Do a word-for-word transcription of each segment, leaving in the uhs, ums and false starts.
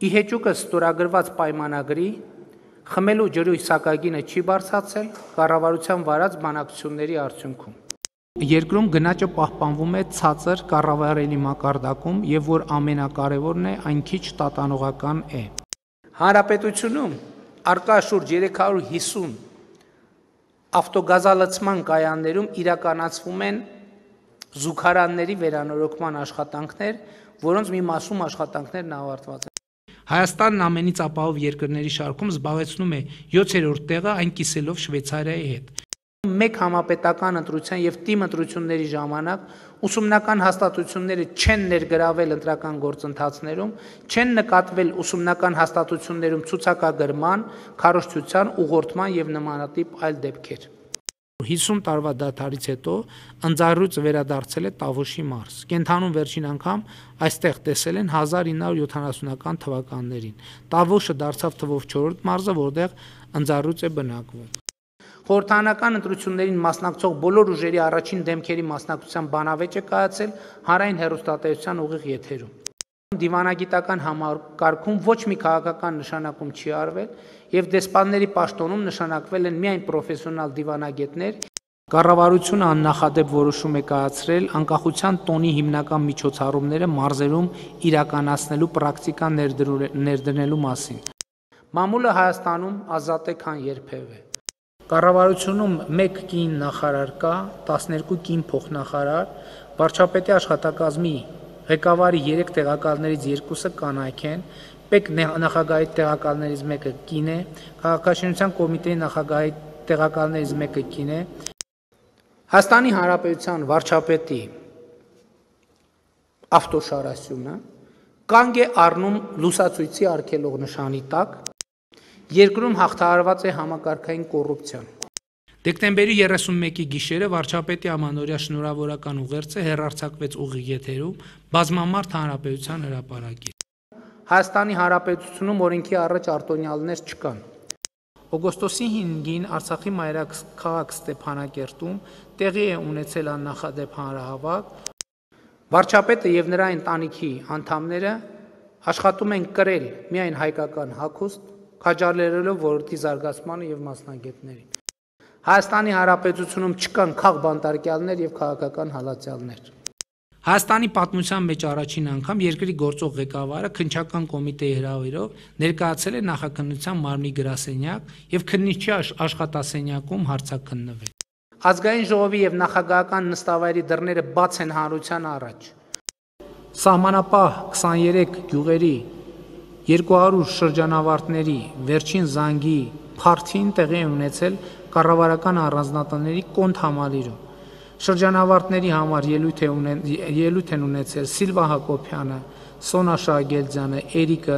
Ի հեճուկը ստորագրված պայմանագրի խմելու ջրի սակագինը չի բարձրացել կառավարության վարած բանակցությունների արդյունքում։ Երկրում գնաճը պահպանվում է ցածր կառավարելի մակարդակում եւ որ ամենակարևորն է, այն քիչ տատանողական է։ Հանրապետությունում արկա շուրջ երեք հարյուր հիսուն ավտոգազալցման կայաններում իրականացվում են զուգարանների վերանորոգման աշխատանքներ, որոնց մի մասում աշխատանքներն ավարտված են։ Հայաստանն ամենից ապահով երկրների շարքում զբաղեցնում է յոթերորդ տեղը, այն կիսելով Շվեյցարիայի հետ։ Մեկ համապետական ընտրության եւ թիմ ընտրությունների ժամանակ ուսումնական հաստատությունները չեն ներգրավել ընտրական գործընթացներում, չեն նկատվել ուսումնական հաստատություններում ցուցակագրման, քարոզչության, ուղղորդման եւ նմանատիպ այլ դեպքեր։ հիսուն տարվա դադարից հետո ընձառյուծը վերադարձել է Տավուշի մարզ։ Կենթանում վերջին անգամ այստեղ տեսել են հազար ինը հարյուր յոթանասունական թվականներին։ Տավուշը դարձավ թվով չորրորդ մարզը, որտեղ ընձառյուծ է բնակվում։ Խորհրդարանական ընտրություններին մասնակցող բոլոր ուժերի առաջին դեմքերի մասնակցության բանավեճ է կայացել հանրային հեռուստատեսության ուղիղ եթերում։ Դիվանագիտական համակարգում ոչ մի քաղաքական նշանակում չի արվել եւ դեսպանների պաշտոնում նշանակվել են միայն պրոֆեսիոնալ դիվանագետներ։ Կառավարությունը աննախադեպ որոշում է կայացրել անկախության տոնի հիմնական միջոցառումները մարզերում իրականացնելու պրակտիկա ներդնելու մասին։ Մամուլը Հայաստանում ազատ է քան երբևէ։ Կառավարությունում մեկ կին նախարար կա, տասներկու կին փոխնախարար, վարչապետի աշխատակազմի ղեկավարի երեք տեղակալներից երկուսը կանայք են, պետ նախագահի տեղակալներից մեկը կին է, քաղաքաշինության կոմիտեի նախագահի տեղակալներից մեկը կին է։ Հայաստանի Հանրապետության վարչապետի ավտոշարասյունը կանգ է առնում լուսացույցի արգելող նշանի տակ, երկրում հաղթահարված է համակարգային կոռուպցիան։ Դեկտեմբերի երեսունմեկի գիշերը վարչապետի ամանորյա շնորհավորական ուղերձը հեռարձակվեց ուղիղ եթերում բազմամարդ հանրապետության հրապարակից։ Հայաստանի Հանրապետությունում օրենքի առաջ արտոնյալներ չկան։ Օգոստոսի հինգին Արցախի մայրաքաղաք Ստեփանակերտում տեղի է ունեցել աննախադեպ հանրահավաք։ Վարչապետը եւ նրա ընտանիքի անդամները աշխատում են կրել միայն հայկական հագուստ, քաջալերելով ոլորտի զարգացմանը եւ մասնագետներին։ Հայաստանի Հանրապետությունում չկան քաղբանտարկյալներ եւ քաղաքական հալածյալներ։ Հայաստանի պատմության մեջ առաջին անգամ երկրի գործող ղեկավարը քննչական կոմիտեի հրավերով ներկայացել է նախաքննության մարմնի գրասենյակ եւ քննիչի աշխատասենյակում հարցաքննվել։ Ազգային ժողովի եւ նախագահական նստավայրի դռները բաց են հանրության առաջ։ Սահմանապահ քսաներեք գյուղերի երկու հարյուր շրջանավարտների վերջին զանգի փարթին տեղի ունեցել կառավարական առանձնատների կոնտ համալիրում։ Շրջանավարտների համար ելույթ են ունեցել Սիլվա Հակոբյանը, Սոնա Շահգելձյանը, Էրիկը,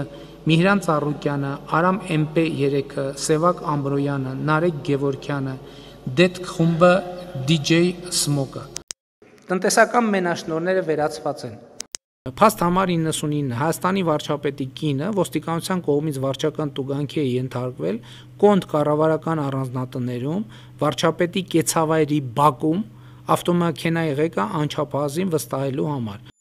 Միհրան Ծառուկյանը, Արամ Էմպե երեքը, Սևակ Ամբրոյանը, Նարեկ Գևորգյանը, Դետք խումբը, դիջեյ Սմոկը։ Տնտեսական մենաշնորհները վերացված են։ Փաստ համար իննսունինը Հայաստանի վարչապետի կինը ոստիկանության կողմից վարչական տուգանքի է ենթարկվել կոնտ կառավարական առանձնատներում, վարչապետի կեցավայրի բակում ավտոմեքենայի ղեկը անչափահասին վստահելու համար։